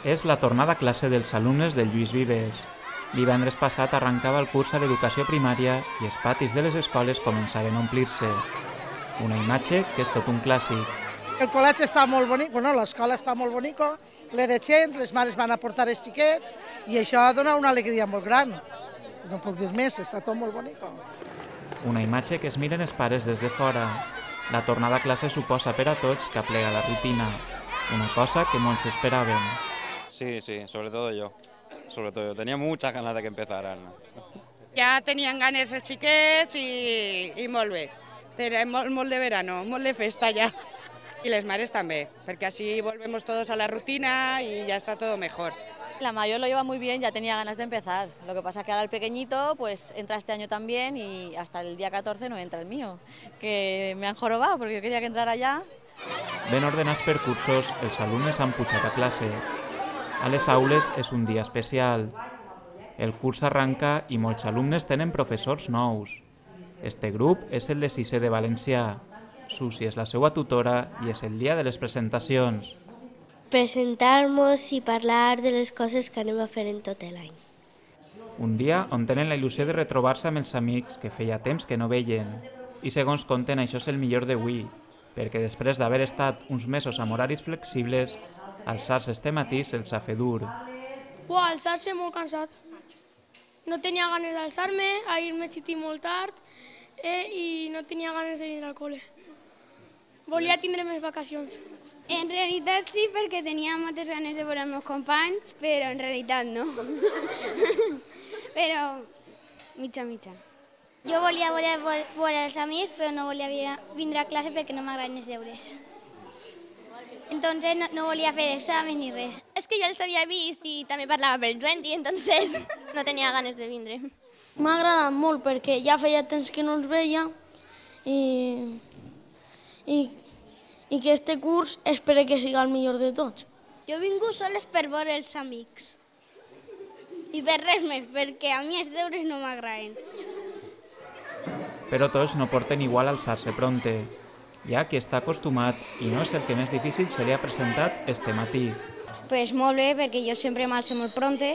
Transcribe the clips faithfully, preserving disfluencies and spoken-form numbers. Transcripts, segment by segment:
És la tornada a classe dels alumnes del Lluís Vives. Divendres passat arrencava el curs a l'educació primària i els patis de les escoles començaven a omplir-se. Una imatge que és tot un clàssic. El col·legi està molt bonic, bueno, l'escola està molt bonica, ple de gent, les mares van a portar els xiquets i això dona una alegria molt gran. No puc dir més, està tot molt bonic. Una imatge que es miren els pares des de fora. La tornada a classe suposa per a tots que aplega la rutina, una cosa que molts esperaven. Sí, sí, sobre todo yo. Sobre todo yo. Tenía muchas ganas de que empezaran. Ja tenien ganes els xiquets i, i molt bé. Tenim molt, molt de verano, molt de festa ja. Y les mares també, perquè així volvemos todos a la rutina y ya está todo mejor. La mayor lo lleva muy bien, ya tenía ganas de empezar. Lo que pasa que ahora el pequeñito pues entra este año también y hasta el día catorce no entra el mío, que me han jorobado porque yo quería que entrara ya. Ben ordenats per cursos, els alumnes han pujat a classe. A les aules és un dia especial. El curs arranca i molts alumnes tenen professors nous. Este grup és el de sisè de valencià. Susi és la seva tutora i és el dia de les presentacions. Presentar-nos i parlar de les coses que anem a fer en tot l'any. Un dia on tenen la il·lusió de retrobar-se amb els amics que feia temps que no veien. I segons conten, això és el millor d'avui, perquè després d'haver estat uns mesos amb horaris flexibles, alçar-se este matí se'ls ha fet dur. Uau, alçar-se molt cansat. No tenia ganes d'alçar-me, ahir m'he xitit molt tard eh, i no tenia ganes de venir al col·le. Volia tindre més vacacions. En realitat sí, perquè tenia moltes ganes de veure els meus companys, però en realitat no. Però mitja, mitja. Jo volia veure, veure els amics, però no volia vindre a classe perquè no m'agraden els deures. Entonces no, no volia fer examen ni res. És que jo els havia vist i també parlava pel vint, entonces no tenia ganes de vindre. M'ha agradat molt perquè ja feia temps que no els veia i, i, i que este curs espero que siga el millor de tots. Jo he vingut soles per veure els amics i per res més, perquè a mi els deures no m'agraden. Però tots no porten igual alçar-se pronte. Hi ha qui està acostumat i no és el que més difícil se li ha presentat este matí. Pues molt bé, perquè jo sempre m'alço molt pronte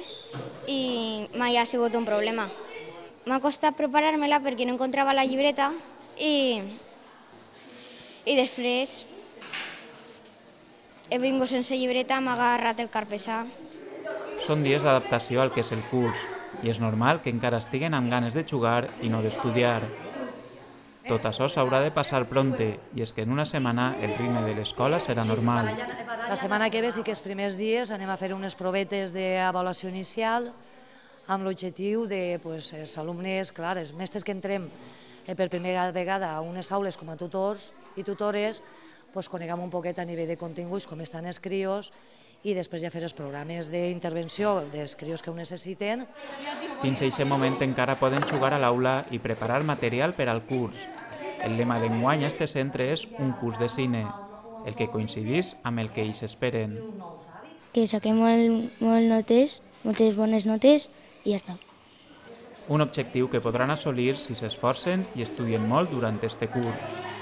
i mai ha sigut un problema. M'ha costat preparar-me-la perquè no encontrava la llibreta i, i després he vingut sense llibreta, m'ha agarrat el carpessà. Són dies d'adaptació al que és el curs i és normal que encara estiguen amb ganes de jugar i no d'estudiar. Tot això s'haurà de passar pronte i és que en una setmana el ritme de l'escola serà normal. La setmana que ve sí que els primers dies anem a fer unes provetes d'avaluació inicial amb l'objectiu de pues, els alumnes, clar, els mestres que entrem per primera vegada a unes aules com a tutors i tutores, pues, coneguem un poquet a nivell de continguts com estan els crios i després ja fer els programes d'intervenció dels crios que ho necessiten. Fins a aquest moment encara poden jugar a l'aula i preparar material per al curs. El lema d'enguany a este centre és un curs de cine, el que coincidís amb el que ells esperen. Que saquem molt, molt notes, moltes bones notes i ja està. Un objectiu que podran assolir si s'esforcen i estudien molt durant este curs.